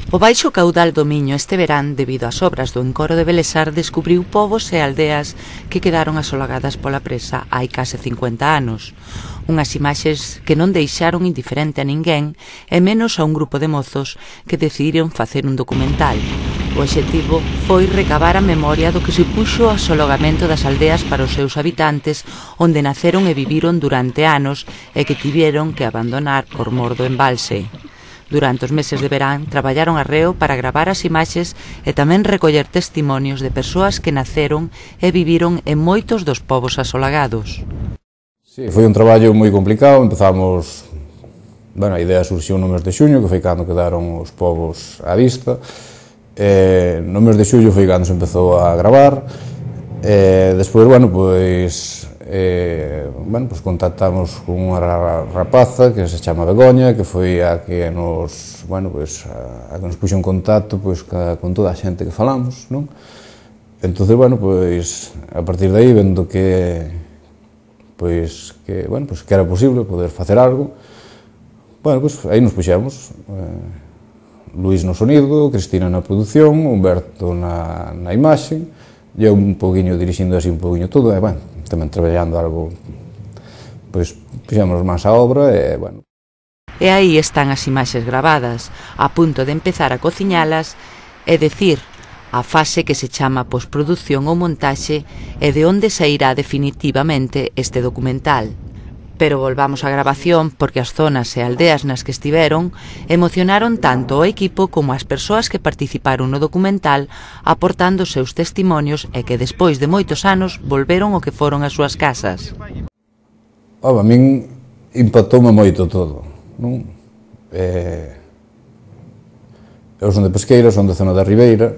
O baixo caudal do Miño este verán, debido ás obras do encoro de Belesar, descubriu povos e aldeas que quedaron asolagadas pola presa hai case 50 anos. Unhas imaxes que non deixaron indiferente a ninguén, e menos a un grupo de mozos que decidiron facer un documental. O obxectivo foi recabar a memoria do que supuxo o asolagamento das aldeas para os seus habitantes, onde naceron e viviron durante anos e que tiveron que abandonar por mor do embalse. Durante os meses de verán traballaron arreo para gravar as imaxes e tamén recoller testimonios de persoas que naceron e viviron en moitos dos povos asolagados. Sí, foi un traballo moi complicado. Empezamos, a idea surxiu no mes de xuño, que foi cando quedaron os povos á vista. No mes de xullo foi cando se empezou a gravar. Despois, contactamos con unha rapaza que se chama Begoña, que foi a que nos, a que nos puxo en contacto con toda a xente que falamos, non? Entón, a partir de aí, vendo que era posible poder facer algo, aí nos puxemos. Luís no sonido, Cristina na produción, Humberto na imaxe, e eu un poquinho dirixindo así un poquinho todo, e tamén traballando algo, puxemos máis a obra, E aí están as imaxes gravadas, a punto de empezar a cociñalas, é dicir, a fase que se chama posproducción ou montaxe e de onde sairá definitivamente este documental. Pero volvamos á grabación porque as zonas e aldeas nas que estiveron emocionaron tanto o equipo como as persoas que participaron no documental aportando os seus testimonios e que despois de moitos anos volveron ao que foron as súas casas. A min impactoume moito todo, non? Eu son de Pesqueira, son de zona da Ribeira,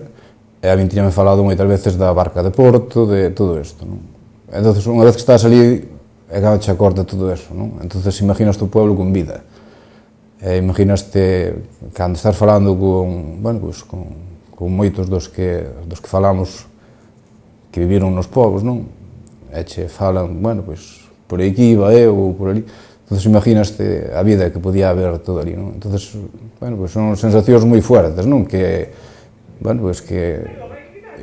e a min tiñame falado moitas veces da barca de Porto, de todo isto, non? Entón, unha vez que estás ali, acabache a corda todo eso, non? Entón, imaginaste o pueblo con vida. Imaginaste, cando estás falando con moitos dos que falamos que viviron nos povos, non? E che falan, por aquí iba eu, ou por ali. Entón, imaginaste a vida que podía haber todo ali, non? Entón, son sensacións moi fuertes, non? Que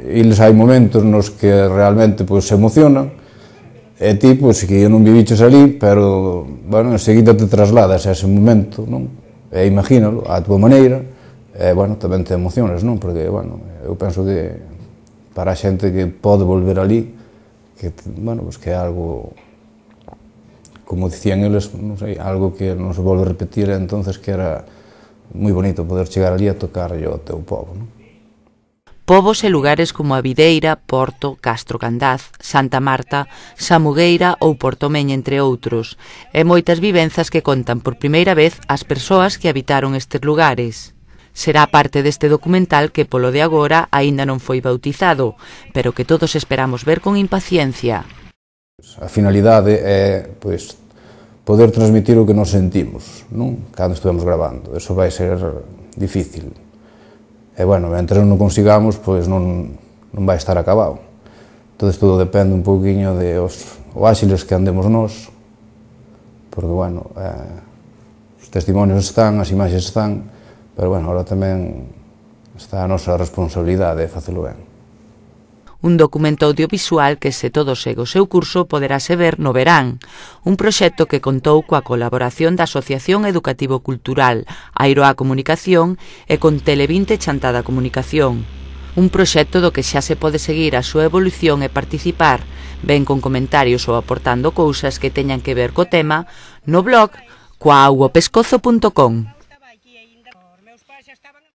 eles hai momentos nos que realmente se emocionan, e ti, que non viviches ali, pero, enseguida te trasladas a ese momento, non? E imagínalo, a túa maneira, e, tamén te emocionas, non? Porque, eu penso que para a xente que pode volver ali, que é algo, como dicían eles, non sei, algo que non se volve a repetir, entonces que era moi bonito poder chegar ali a tocar o teu povo, non? Povos e lugares como a Videira, Porto, Castro Candaz, Santa Marta, Samugueira ou Portomeña, entre outros, e moitas vivenzas que contan por primeira vez as persoas que habitaron estes lugares. Será parte deste documental que polo de agora aínda non foi bautizado, pero que todos esperamos ver con impaciencia. A finalidade é, poder transmitir o que nos sentimos, non? Cando estuvemos gravando. Eso vai ser difícil. E, mentre non consigamos, non vai estar acabado. Entón, todo depende un pouquiño de o áxiles que andemos nós, porque, os testimonios están, as imaxes están, pero, agora tamén está a nosa responsabilidade de facelo ben. Un documento audiovisual que, se todo segue o seu curso, poderase ver no verán. Un proxecto que contou coa colaboración da Asociación Educativo Cultural Airoa Comunicación e con Tele20 Chantada Comunicación. Un proxecto do que xa se pode seguir a súa evolución e participar, ben con comentarios ou aportando cousas que teñan que ver co tema, no blog coauopescozo.com.